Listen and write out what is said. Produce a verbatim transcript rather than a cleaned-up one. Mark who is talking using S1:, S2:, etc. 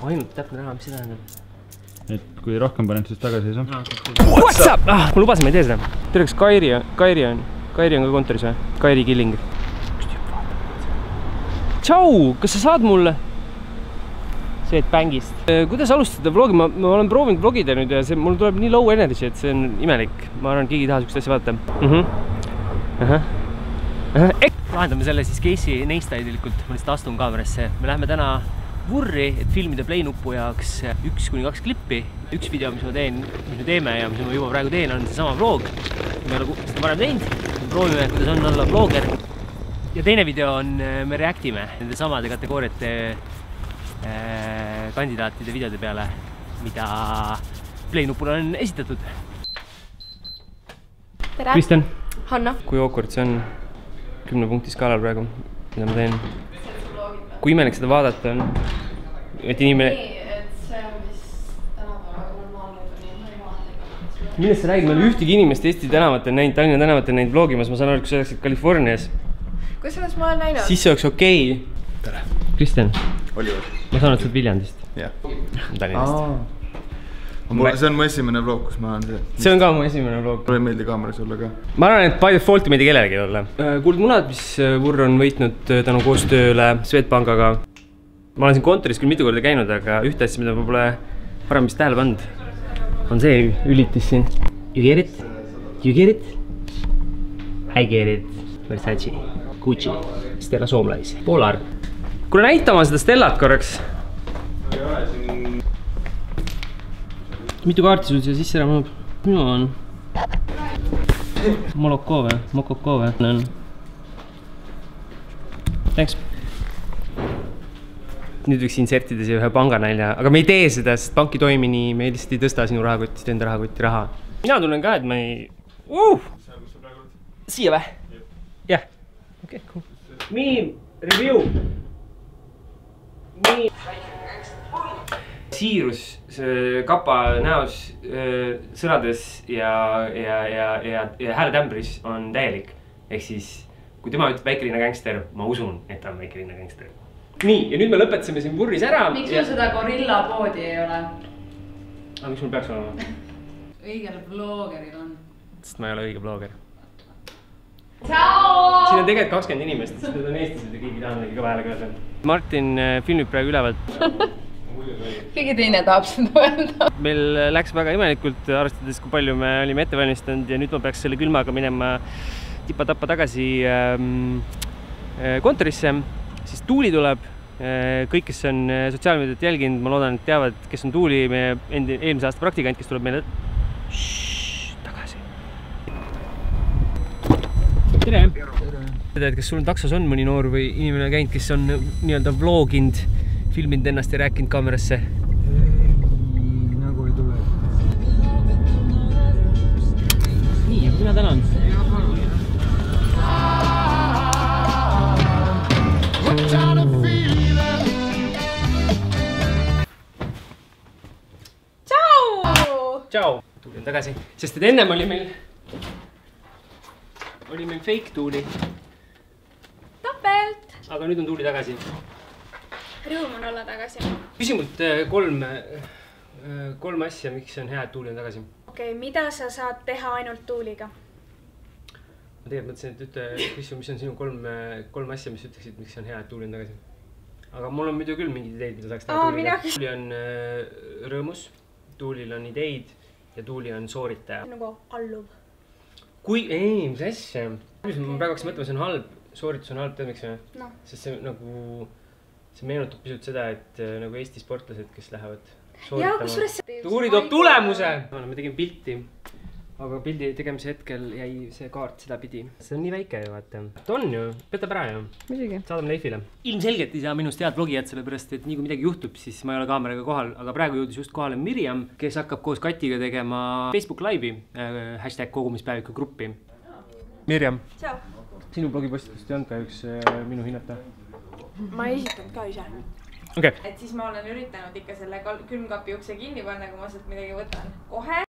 S1: ainult täpne näha, mis see tähendab.
S2: Et kui rohkem panen, siis tagasi ei saa.
S1: What's up? Ah, ma lubasin, ma ei tee seda. Tere, kas Kairi on, Kairi on, Kairi on ka kontoris või? Kairi Killing. Tšau, kas sa saad mulle? See, et bängist. Kuidas alustada vlogi? Ma, ma olen proovinud vlogida nüüd ja see, mul tuleb nii low energy, et see on imelik. Ma arvan, et keegi ei taha sükest asja vaadata. Mhm. Ahah. Lahendame selle siis Casey Neistai tegelikult. Ma lihtsalt astun kaamerasse. Me läheme täna Vurri, et filmida play nupu jaoks üks kuni kaks klippi. Üks video, mis ma teen, mis me teeme ja mis ma juba praegu teen, on see sama vlog. Me oleme seda varem teinud. Me proovime, kuidas on olla vlogger. Ja teine video on, me reactime nende samade kategooriate äh, kandidaatide videode peale, mida play nupule on esitatud.
S3: Tere!
S1: Kristjan!
S3: Hanna!
S1: Kui awkward see on kümne punkti skaalal praegu, mida ma teen? Kui imelik seda vaadata on, et inimene...
S3: Nii, et see on vist tänapäeval normaalne juba nii normaalne.
S1: Millest sa räägid? Ma olen ühtegi inimest Eesti tänavatel näinud, Tallinna tänavatel näinud vlogimas, ma saan aru, kui sa oleksid Californias.
S3: Kusjuures ma olen näinud?
S1: Siis see oleks okei.
S2: Tere!
S1: Kristjan,
S2: Oliver.
S1: ma saan aru, et sa oled Viljandist.
S2: Jah.
S1: Tallinnast.
S2: See on mu esimene vlog, kus ma olen see.
S1: See on ka mu esimene vlog.
S2: Mulle ei meeldi kaameras olla ka.
S1: Ma arvan, et by default ei meeldi kellelegi olla. Kuuld munad, mis Vurr on võitnud tänu koostööle Swedbankaga. Ma olen siin kontoris küll mitu korda käinud, aga ühte asja, mida ma pole varem vist tähele pannud, on see ülitis siin. You get it? You get it? I get it. Versace, Gucci, Stella Soomlais, Polar. Kuule näita oma seda Stellat korraks. Mitu kaarti sul siia sisse ära mahub? Minu on Moloko või? Mokoko või? Thanks. Nüüd võiks insertida siia ühe panganälja, aga me ei tee seda, sest pank ei toimi nii, me lihtsalt ei tõsta sinu rahakotist enda rahakotti raha. Mina tunnen ka, et ma ei... Uh! Siia või? Jah. Okei, cool. Meme review. Meme. Siirus kapa näos, sõnades ja, ja, ja, ja, ja hääletämbris on täielik. Ehk siis, kui tema ütleb väikelinna gangster, ma usun, et ta on väikelinna gangster. Nii, ja nüüd me lõpetasime siin Vurris ära.
S3: Miks sul seda gorilla poodi ei ole?
S1: Aga miks mul peaks olema?
S3: Õigel vloggeril on.
S1: Sest ma ei ole õige vlogger.
S3: Tšau!
S1: Siin on tegelikult kakskümmend inimest, sest need on eestlased ja keegi tahab mingi kõva häälega öelda. Martin filmib praegu ülevalt.
S3: Keegi teine tahab seda öelda.
S1: Meil läks väga imelikult, arvestades kui palju me olime ette valmistanud ja nüüd ma peaks selle külmaga minema tipa-tappa tagasi ähm, kontorisse. Siis Tuuli tuleb. Kõik, kes on sotsiaalmeediat jälginud, ma loodan, et teavad, kes on Tuuli, meie endi, eelmise aasta praktikant, kes tuleb meile Shhh, tagasi. Tere! Tere! Kas sul taksos on mõni noor või inimene käinud, kes on nii-öelda vloginud, filminud ennast ja rääkinud kaamerasse?
S2: Ei, nagu ei tule.
S1: Nii, mina tänan.
S3: Tšau!
S1: Tšau! Tuuli on tagasi, sest et ennem oli meil oli meil fake Tuuli.
S3: Tapelt!
S1: Aga nüüd on Tuuli tagasi.
S3: Rõõm on olla tagasi.
S1: Küsi mult kolm, kolm asja, miks on hea, et Tuuli on tagasi.
S3: Okei, mida sa saad teha ainult Tuuliga?
S1: Ma tegelikult mõtlesin, et ütle, küsi, mis on sinu kolm, kolm asja, mis ütleksid, miks on hea, et Tuuli on tagasi. Aga mul on muidu küll mingid ideid, mida saaks teha Tuuliga. Tuuli on rõõmus, Tuulil on ideid ja Tuuli on sooritaja.
S3: Nagu alluv. Kui,
S1: ei, mis asja? Mis ma praegu hakkasin mõtlema, see on halb, sooritus on halb, tead miks või?
S3: No.
S1: Sest see nagu, see meenutab pisut seda, et nagu Eesti sportlased, kes lähevad
S3: jaa, kus võres...
S1: Tuuli toob tulemuse! Me tegime pilti, aga pildi tegemise hetkel jäi see kaart seda pidi. See on nii väike ju, vaata. Ta on ju, petab ära ju.
S3: Muidugi.
S1: Saadame Leifile. Ilmselgelt ei saa minust head vlogijad, sellepärast, et nii kui midagi juhtub, siis ma ei ole kaameraga kohal. Aga praegu jõudis just kohale Mirjam, kes hakkab koos Katiga tegema Facebook Live'i, äh, hashtag kogumispäeviku gruppi. Mirjam.
S3: Tšau.
S1: Sinu blogipostitust ei olnud ka üks äh, minu hinnata.
S3: Ma ei esitanud ka ise.
S1: Okay.
S3: Et siis ma olen üritanud ikka selle külmkapi ukse kinni panna, kui ma sealt midagi võtan. Kohe